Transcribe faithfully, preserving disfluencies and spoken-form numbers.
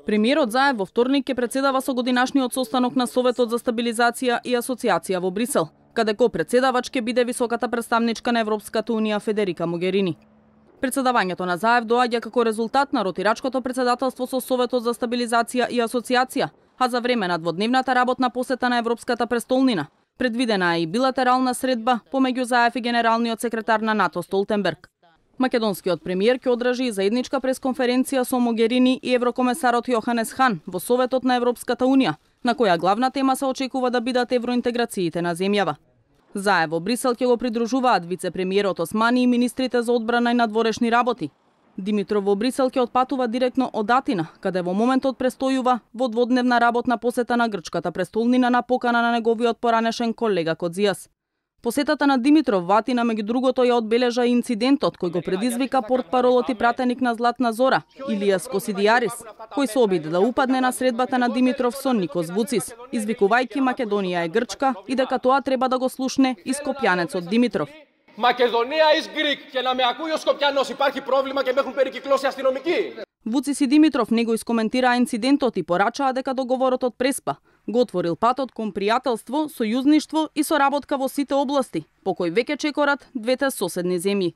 Премиерот Заев во вторник ќе претседава со годинашниот состанок на Советот за стабилизација и асоциација во Брисел, каде ко претседавач ќе биде високата представничка на Европската унија Федерика Могерини. Претседавањето на Заев доаѓа како резултат на ротирачкото претседателство со Советот за стабилизација и асоциација, а за време на дводневната работна посета на Европската престолнина предвидена е и билатерална средба помеѓу Заев и генералниот секретар на НАТО Столтенберг. Македонскиот премиер ќе одржи и заедничка пресконференција со Могерини и еврокомесарот Јоханес Хан во Советот на Европската унија, на која главна тема се очекува да бидат евроинтеграциите на земјава. Заев во Брисел ќе го придружуваат вице-премиерот Османи и министрите за одбрана и надворешни работи. Димитров во Брисел ќе отпатува директно од Атина, каде во моментот престојува во дводневна работна посета на грчката престолнина на покана на неговиот поранешен колега Кодзијас. Посетата на Димитров во Атина меѓу другото ја одбележа и инцидентот кој го предизвика портпаролот и пратеник на Златна Зора, Илијас Косидијарис, кој се обиде да упадне на средбата на Димитров со Никос Вуцис, извикувајќи Македонија е Грчка и дека тоа треба да го слушне и скопјанецот Димитров. Македонија is Greek και να με ακούει ο Σκοπιανός υπάρχει πρόβλημα και με έχουν περικυκλώσει αστυνομικοί. Вуцис и Димитров не го искоментираа инцидентот и порачаа дека договорот преспа го отворил патот кон пријателство, сојузништво и соработка во сите области, по кој веќе чекорат двете соседни земји.